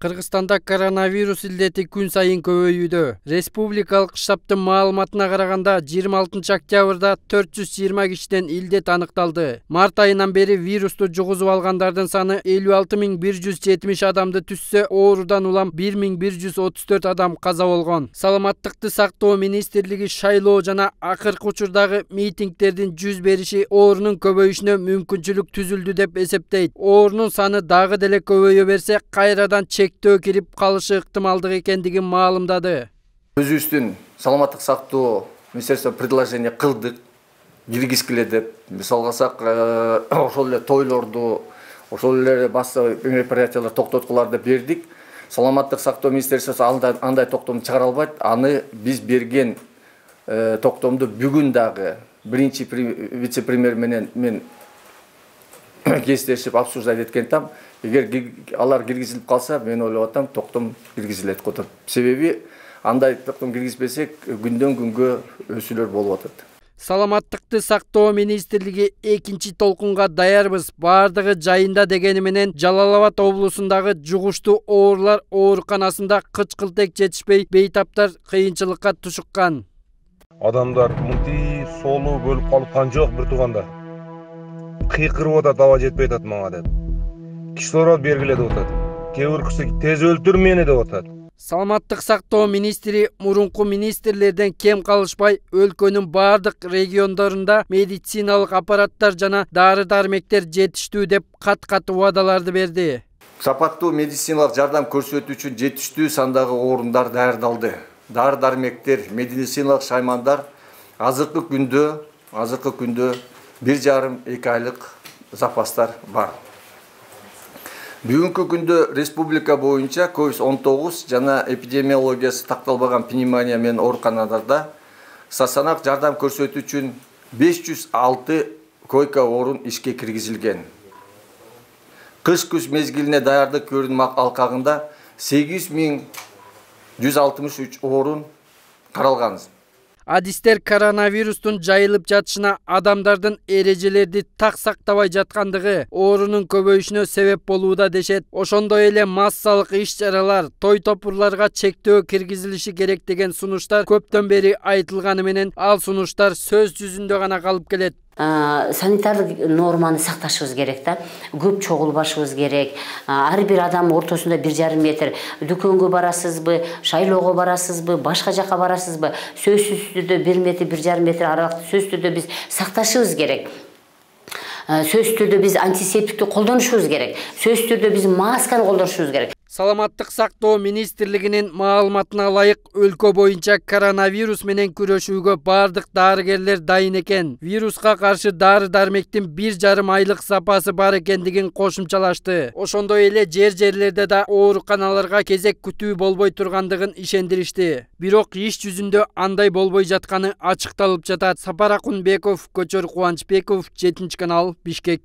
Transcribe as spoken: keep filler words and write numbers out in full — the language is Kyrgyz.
Кыргызстанда коронавирус илдети күн сайын көбөйүүдө. Республикалык штабтын маалыматына караганда жыйырма алтынчы октябрда төрт жүз жыйырма кишиден илдет аныкталды. Март айынан бери вирусту жугузуп алгандардын саны элүү алты миң бир жүз жетимиш адамды түзсө, оорудан улам бир миң бир жүз отуз төрт адам каза болгон. Саламаттыкты сактоо министрлиги шайлоо жана акыркы учурдагы митингдердин жүз бериши оорунун көбөйүшүнө мүмкүнчүлүк түзүлдү деп эсептейт. Оорунун саны дагы деле көбөйө берсе, кайрадан чектөө кирип калышы ыктымалдык экендигин маалымдады. Өзүбүздүн саламаттык сактоо министерство предложение кылдык, киргизгиле деп. Мисалга алсак, ошол эле тойлорду, ошол эле башка мероприятиялар токтоткуларды бердик. Саламаттык сактоо министерствосу андай токтомду чыгара албайт. Аны биз берген токтомду бүгүн дагы биринчи вице-премьер менен мен кездешип обсуждать эткен там. Эгер алар киргизилип калса, мен ойлоп атам, токтом киргизилет го деп. Себеби андай токтом киргизбесек, күндөн күнгө өсүүлөр болуп атат. Саламаттыкты сактоо министрлиги экинчи толкунга даярбыз, бардыгы жайында дегени менен Жалал Абад облусундагы жугуштуу оорулар ооруканасында кычкылтек жетишпей, бейтаптар кыйынчылыкка тушуккан. Адамдар мынти соолуу бөлүп калып жок бир тууганда. Кыйкырып атат, аба жетпей атат мага деп. Кислород бергиле деп атат. Кээ биркisi тез өлтүр мени деп атат. Саламаттык сактоо министри мурунку министрлерден кем калышпай, өлкөнүн бардык региондорунда медициналык аппараттар жана дары-дармектер жетиштүү деп кат-кат убадаларды берди. Сапаттуу медициналык жардам көрсөтүү үчүн жетиштүү сандагы орундар даярдалды. Дары-дармектер, медициналык шаймандар азыркы күндө, азыркы күндө бир жарым эки айлык запастар бар. Бүгүнкү күндө республика боюнча ковид он тогуз жана эпидемиологиясы такталбаган пневмония менен ооруканаларда стационар жардам көрсөтүү үчүн беш жүз алты койка орун ишке киргизилген. Кыш-күз мезгилине даярдык көрүнүм алкагында сегиз миң жүз алтымыш үч орун каралган. Адистер коронавирустун жайылып жатышына адамдардын эрежелерди так сактабай жаткандыгы оорунун көбөйүшүнө себеп болууда дешет. Ошондой эле массалык иш-чаралар, той топурларга чектөө киргизилиши керек деген сунуштар көптөн бери айтылганы менен, ал сунуштар сөз жүзүндө гана калып келет. Санитардык норманы сакташыбыз керек да. Көп чогулбашыбыз керек. Ар бир адам ортосунда бир жарым метр. Дүкөнгө барасызбы, шайлоого барасызбы, башка жака барасызбы? Сөзсүз түрдө бир метр, бир жарым метр аралыкты сөзсүз түрдө биз сакташыбыз керек. Сөзсүз түрдө биз антисептикти колдонушубуз керек. Сөзсүз түрдө биз масканы колдонушубуз керек. Саламаттык сактоо министрлигинин маалыматына ылайык, өлкө боюнча коронавирус менен күрөшүүгө бардык дарыгерлер дайын экен. Вируска каршы дары-дармектин бир жарым айлык запасы бар экендигин кошумчалашты. Ошондой эле жер-жерлерде да ооруканаларга кезек күтүү болбой тургандыгын ишендиришти. Бирок иш жүзүндө андай болбой жатканы ачыкталып жатат. Сапар Акунбеков, Көчөр Кубанычбеков, жетинчи канал, Бишкек.